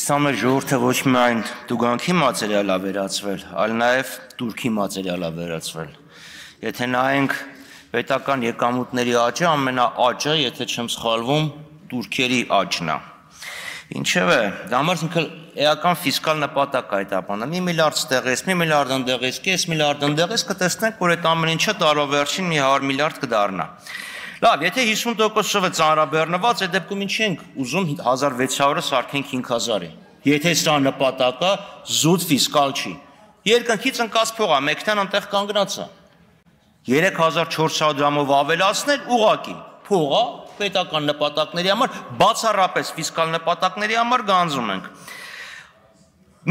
Իսլամի ժողովուրդը ոչ միայն դուգանքի մատերիալ է վերածվել, այլ նաև турքի մատերիալ է վերածվել։ Եթե նայենք պետական եկամուտների աճը, ամենաաճը, եթե չեմ սխալվում, турքերի աճն է։ Ինչևէ, դա համար ինքը էական ֆիսկալ նպատակ է այդ ապանը։ 1 միլիարդ ստեղես, 1 միլիարդ ընդեղես, կես միլիարդ ընդեղես, կտեսնենք, որ այդ ամեն ինչը տարվա վերջին մի 100 միլիարդ կդառնա։ Լավ, եթե 50%-ը ծանրաբեռնված, այդ դեպքում ինչ ենք ուզում 1600-ը սարքենք 5000-ի։ Եթե սա նպատակը զուտ ֆիսկալ չի։ Երկնքից ընկած փող է, մեկնան անտեղ կանգնած է։ 3400 դրամով ավելացնել ուղղակի փողը պետական նպատակների համար, բացառապես ֆիսկալ նպատակների համար գանձում ենք։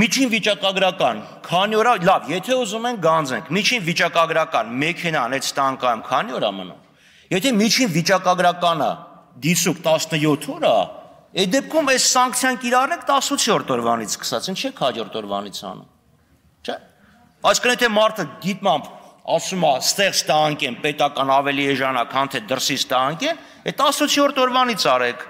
Միջին վիճակագրական, քանի օր, լավ, եթե ուզում ենք գանձենք, միջին վիճակագրական մեքենան այդ ստանկայում քանի օր է մնում։ Եթե միջին վիճակագրականը դիսուկ 17 օր է, այդ դեպքում այս սանկցիան կիրառենք 18-րդ օրվանից սկսած, ինչ եք հաջորդ օրվանից անում։ Չէ՞։ Այսինքն եթե մարդը գիտմամբ ասում է, ստեղ ստանքեմ պետական ավելի էժանա, քան թե դրսից ստանքեմ, այդ 18-րդ օրվանից արեք։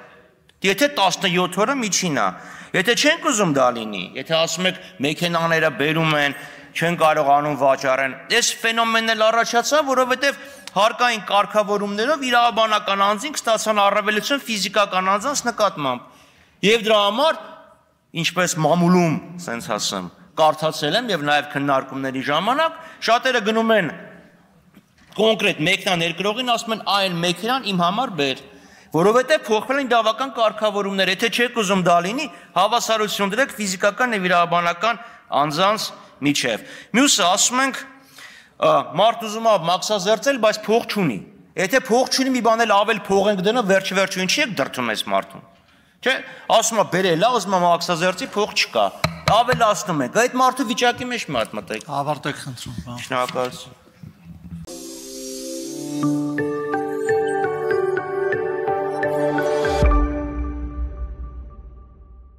Եթե 17 օրը միջին է, եթե չենք ուզում դա լինի, եթե ասում եք մեքենաները բերում են, չեն կարողանում վաճառեն, այս ֆենոմենն էլ առաջացավ, որովհետև հարկային կարգավորումներով իրավաբանական անձինք ստացան առավելություն ֆիզիկական անձանց նկատմամբ։ Եվ դրա համար, ինչպես մամուլում, սենց ասեմ, կարդացել եմ եւ նաեւ քննարկումների ժամանակ, շատերը գնում են կոնկրետ մեքենա ներկրողին, ասում են այն մեքենան իմ համար բեր, որովհետեւ փոխվել են իրավական կարգավորումներ, եթե չեք ուզում դա լինի, հավասարություն դրեք ֆիզիկական եւ իրավաբանական անձանց միջև։ Մյուսը ասում ենք մարդ ուզում է մաքսազերծել, բայց փող չունի։ Եթե փող չունի, մի բան էլ ավել փող ենք դնում, վերջ ինչի եք դրդում այս մարդուն։ Չէ, ասում է բերել, ուզում է մաքսազերծի, փող չկա։ Ավելացնում եք։ Այդ մարդու վիճակի մեջ մտեք։ Ավարտեք խնդրում։ Շնորհակալություն։